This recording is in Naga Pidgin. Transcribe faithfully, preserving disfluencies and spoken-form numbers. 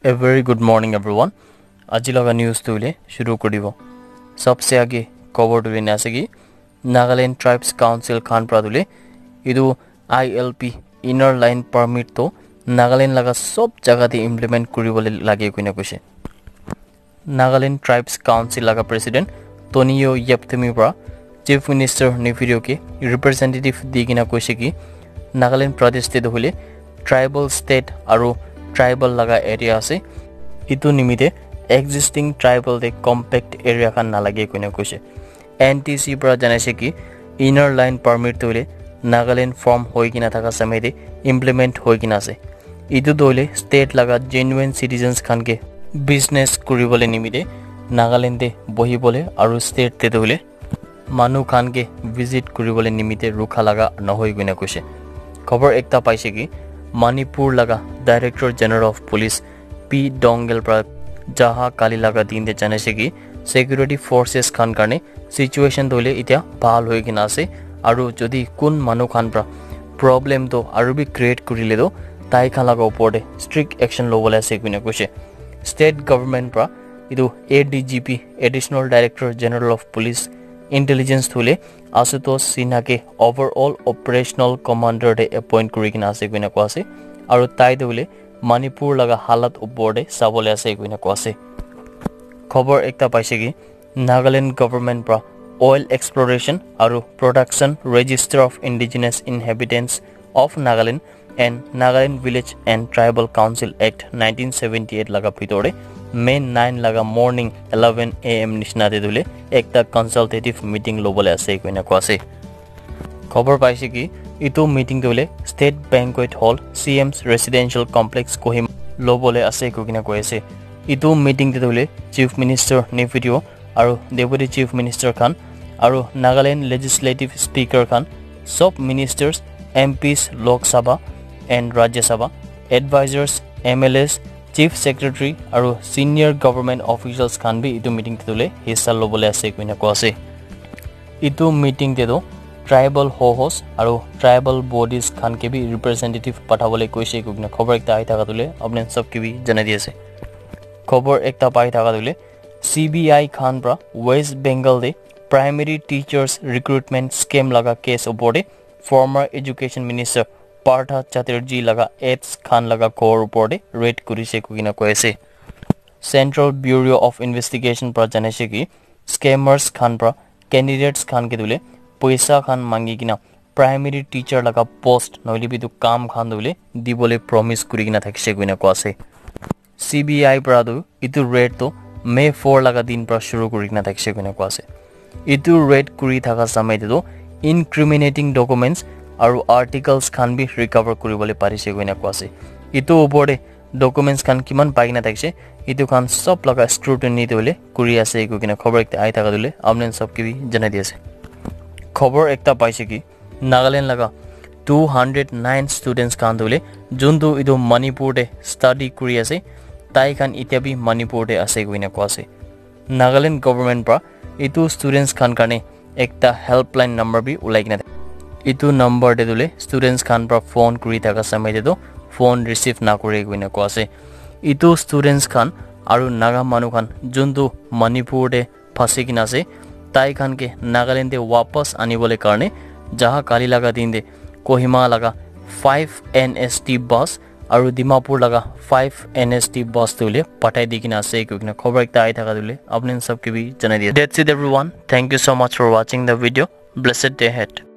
A very good morning, everyone. Aji laga news tu le shuru kuri dibo. Sabse aage khobor tu le na ase ki Nagaland Tribes Council khan pra tu le etu I L P, Inner Line Permit, to Nagaland laga sob jaga te implement kuri bole lage koina koise. Nagaland Tribes Council laga President Tonio Yepthumi pra Chief Minister Neiphiu Rio ke representative di kena koise ki Nagaland Pradesh te tu hoile tribal state aru tribal laga area ase. Etu nimite existing tribal te compact area khan nalage koina koise. N T C pra janaise ki Inner Line Permit tu hoile Nagaland form hoi kena thaka samay te implement hoi kena ase. Etu tu hoile state laga genuine citizens khan ke business kuri bole nimite Nagaland te bohi bole aru state te tu hoile manu khan ke visit kuri bole nimite rukha laga nohoi koina koise. Khobor ekta paise ki Manipur laga Director General of Police P Dongel pra jaha kali laga din te janaise ki security forces khan karne situation tu hoile itya bhal hoi kena ase, aru jodi kun manu khan pra problem tu aru bi create kurile tu tai khan laga upor te strict action lobole ase koina koise. State government pra etu A D G P, Additional Director General of Police Intelligence tu hoile Ashutosh Sinha ke overall operational commander te appoint kuri kena ase koina koa ase, aru tai tu hoile Manipur laga halat upor te sabole ase koina koa ase. Khobor ekta paise ki Nagaland government pra Oil Exploration aru Production, Register of Indigenous Inhabitants of Nagaland and Nagaland Village and Tribal Council Act nineteen seventy eight laga bhitor te May nine laga morning eleven A M nishina te tu hoile ekta consultative meeting lobole ase koina koa ase. Khobor paise ki etu meeting tu hoile State Banquet Hall, C M's Residential Complex, Kohima lobole ase koi kena koi ase. Etu meeting te tu hoile Chief Minister Neiphiu Rio aru Deputy Chief Minister khan aru Nagaland Legislative Speaker khan, sob ministers, M Ps, Lok Sabha and Rajya Sabha, advisors, M L As, Chief Secretary aru senior government officials khan bi etu meeting te tu hoile hissa lobole ase koina koa ase. Etu meeting te tu tribal ho-hos aru tribal bodies khan ke bi representative pathabole koise koina khobor ekta ahi thaka tu hoile apni sob ke bi janai di ase. Khobor ekta pai thaka tu hoile C B I khan pra West Bengal te primary teachers recruitment scam laga case upor te former education minister Partha Chatterjee laga aides khan laga ghor upor te raid kurise koi kena koi ase. Central Bureau of Investigation pra janaise ki scammers khan pra candidates khan ke tu hoile poisa khan mangi kena primary teacher laga post nohoile bi etu kam khan tu hoile dibole promise kuri kena thakise koina koa ase. C B I pra tu etu raid tu May four laga din pra shuru kuri kena thakise koina koa ase. Etu raid kuri thaka samay te tu incriminating documents aru articles khan bi recover kuri bole parise koina koa ase. Etu upor te documents khan kiman pai kena thakise, etu khan sob laga scrutiny tu hoile kuri ase koi kena khobor ekta ahi thaka tu hoile apni sob ke bi janai di ase. Khobor ekta paise ki Nagaland laga two hundred nine students khan tu hoile juntu etu Manipur te study kuri ase, tai khan itya bi Manipur te ase koina koa ase. Nagaland government pra etu students khan karne ekta helpline number bi ulai kena thake. Etu number te tu hoile students khan pra phone kuri thaka samay te tu phone receive na kure koina koa ase. Etu students khan aru Naga manu khan juntu Manipur te phasi kena ase, tai khan ke Nagaland te wapas ani bole karne jaha kali laga din te Kohima laga five N S T bus aru Dimapur laga five N S T bus tu hoile pathai di kena ase koi kena khobor ekta ahi thaka tu hoile apni sob ke bi janai di. That's it, everyone. Thank you so much for watching the video. Blessed day ahead.